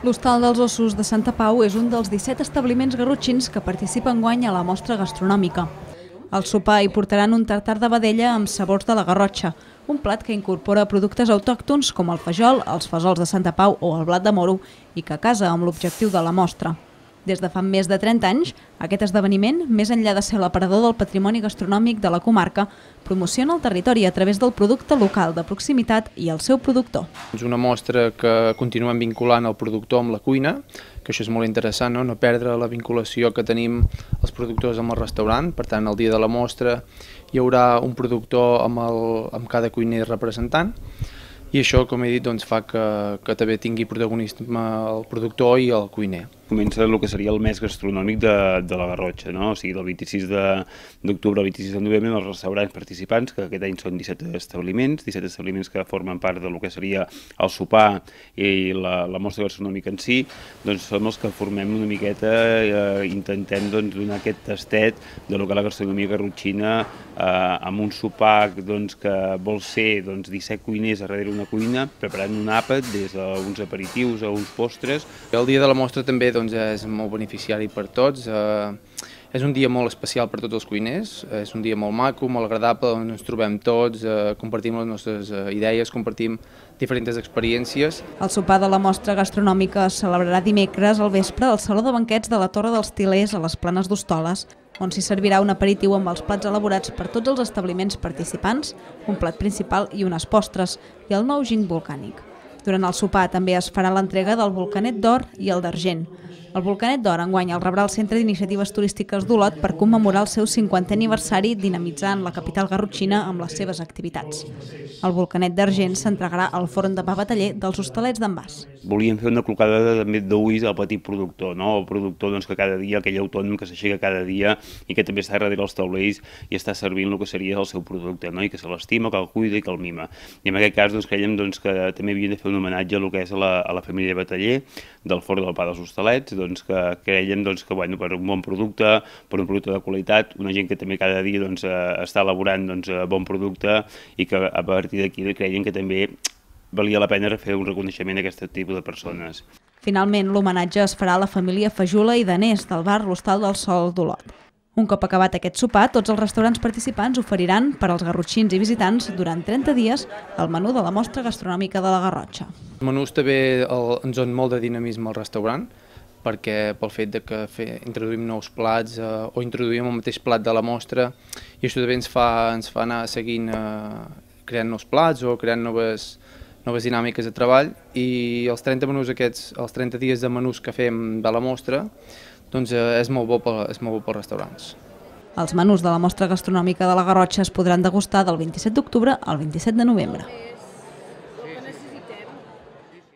L'Hostal dels Ossos de Santa Pau és un dels 17 establiments garrotxins que participen enguany a la mostra gastronòmica. Al sopar hi portaran un tartar de vedella amb sabors de la Garrotxa, un plat que incorpora productes autòctons com el fajol, els fesols de Santa Pau o el blat de moro i que casa amb l'objectiu de la mostra. Des de fa més de 30 anys, aquest esdeveniment, més enllà de ser l'aparador del patrimoni gastronòmic de la comarca, promociona el territori a través del producte local de proximitat i el seu productor. És una mostra que continuem vinculant el productor amb la cuina, que això és molt interessant, no perdre la vinculació que tenim els productors amb el restaurant. Per tant, el dia de la mostra hi haurà un productor amb cada cuiner representant, i això, com he dit, fa que també tingui protagonisme el productor i el cuiner. Comença el que seria el mes gastronòmic de la Garrotxa, no? O sigui, del 26 d'octubre al 26 de novembre, els restaurants participants, que aquest any són 17 establiments que formen part del que seria el sopar i la mostra gastronòmica en si, doncs som els que formem una miqueta, intentem donar aquest tastet de lo que la gastronomia garrotxina, amb un sopar que vol ser 17 cuiners darrere una cuina, preparant un àpat des d'uns aperitius a uns postres. El dia de la mostra també és molt beneficiari per tots. És un dia molt especial per tots els cuiners, és un dia molt maco, molt agradable, on ens trobem tots, compartim les nostres idees, compartim diferents experiències. El sopar de la mostra gastronòmica es celebrarà dimecres al vespre al Saló de Banquets de la Torre dels Til·lers a les Planes d'Hostoles, on s'hi servirà un aperitiu amb els plats elaborats per tots els establiments participants, un plat principal i unes postres, i el nou ginc volcànic. Durant el sopar també es farà l'entrega del Volcanet d'Or i el d'Argent. El Volcanet d'Or enguany el rebrà el Centre d'Iniciatives Turístiques d'Olot per commemorar el seu 50è aniversari dinamitzant la capital garrotxina amb les seves activitats. El Volcanet d'Argent s'entregarà al Forn de Pa Bataller dels Hostalets d'en Bas. Volíem fer una clocada també d'ulls al petit productor, no? El productor que cada dia, aquell autònom que s'aixeca cada dia i que també està darrere els taulells i està servint el que seria el seu producte, no? I que se l'estima, que el cuida i que el mima. I en aquest cas creiem que també havíem de fer un homenatge al que és a la família Bataller del Forn del Pa dels Hostalets, que creiem que per un bon producte, per un producte de qualitat, una gent que també cada dia està elaborant bon producte i que a partir d'aquí creiem que també valia la pena fer un reconeixement a aquest tipus de persones. Finalment, l'homenatge es farà a la família Fajula i Danés del bar L'Hostal del Sol d'Olot. Un cop acabat aquest sopar, tots els restaurants participants oferiran per als garrotxins i visitants durant 30 dies el menú de la mostra gastronòmica de la Garrotxa. Els menús també ens donen molt de dinamisme al restaurant, perquè pel fet que introduïm nous plats o introduïm el mateix plat de la mostra, i això també ens fa anar seguint creant nous plats o creant noves dinàmiques de treball, i els 30 menús aquests, els 30 dies de menús que fem de la mostra, és molt bo pels restaurants. Els menús de la mostra gastronòmica de la Garrotxa es podran degustar del 27 d'octubre al 27 de novembre.